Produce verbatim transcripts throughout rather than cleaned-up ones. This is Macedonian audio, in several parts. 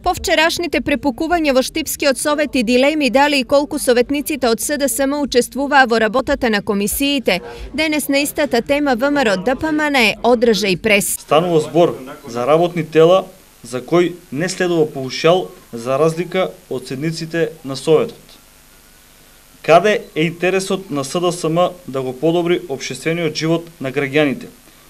По вчерашните препукувања во Штипскиот совет и дилеми дали и колку советниците од СДСМ учествуваа во работата на комисиите, денес на истата тема ВМРО ДПМН одржа и прес. Станува збор за работни тела за кои не следува паушал за разлика од седниците на Советот. Каде е интересот на СДСМ да го подобри општествениот живот на граѓаните,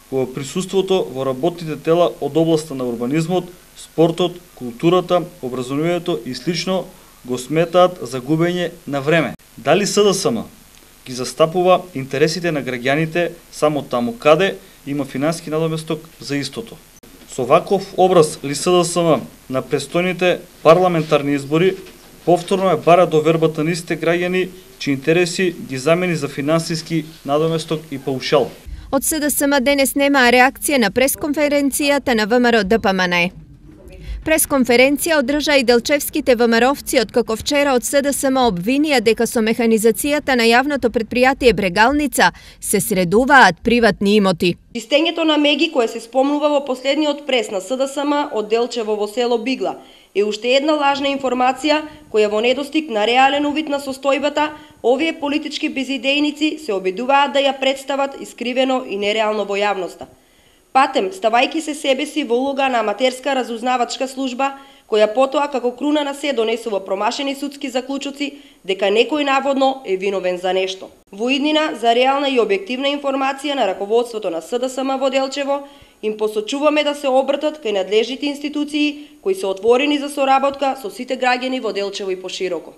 кога присуството во работните тела од областа на урбанизмот, спортот, културата, образованието и слично го сметаат за губење на време? Дали СДСМ ги застапува интересите на граѓаните само таму каде има финансски надоместок за истото? Со ваков образ ли СДСМ на престојните парламентарни избори повторно е бара довербата на истите граѓани чии интереси ги замени за финансиски надоместок и паушал? Од СДСМ денес немаа реакција на пресконференцијата на ВМРО ДПМН. Пресконференција одржа и делчевските ВМРО-вци, откако вчера од СДСМ обвинија дека со механизацијата на јавното претпријатие Брегалница се средуваат приватни имоти. Чистењето на меги кое се спомнува во последниот прес на СДСМ од Делчево во село Бигла е уште една лажна информација која во недостиг на реален увид на состојбата, овие политички безидејници се обидуваат да ја представат искривено и нереално во јавноста. Патем, ставајки се себе си во улога на аматерска разузнавачка служба, која потоа како круна на се донесува промашени судски заклучоци дека некој наводно е виновен за нешто. Во иднина за реална и објективна информација на раководството на СДСМ во Делчево, им посочуваме да се обратат кај надлежните институции кои се отворени за соработка со сите граѓани во Делчево и пошироко.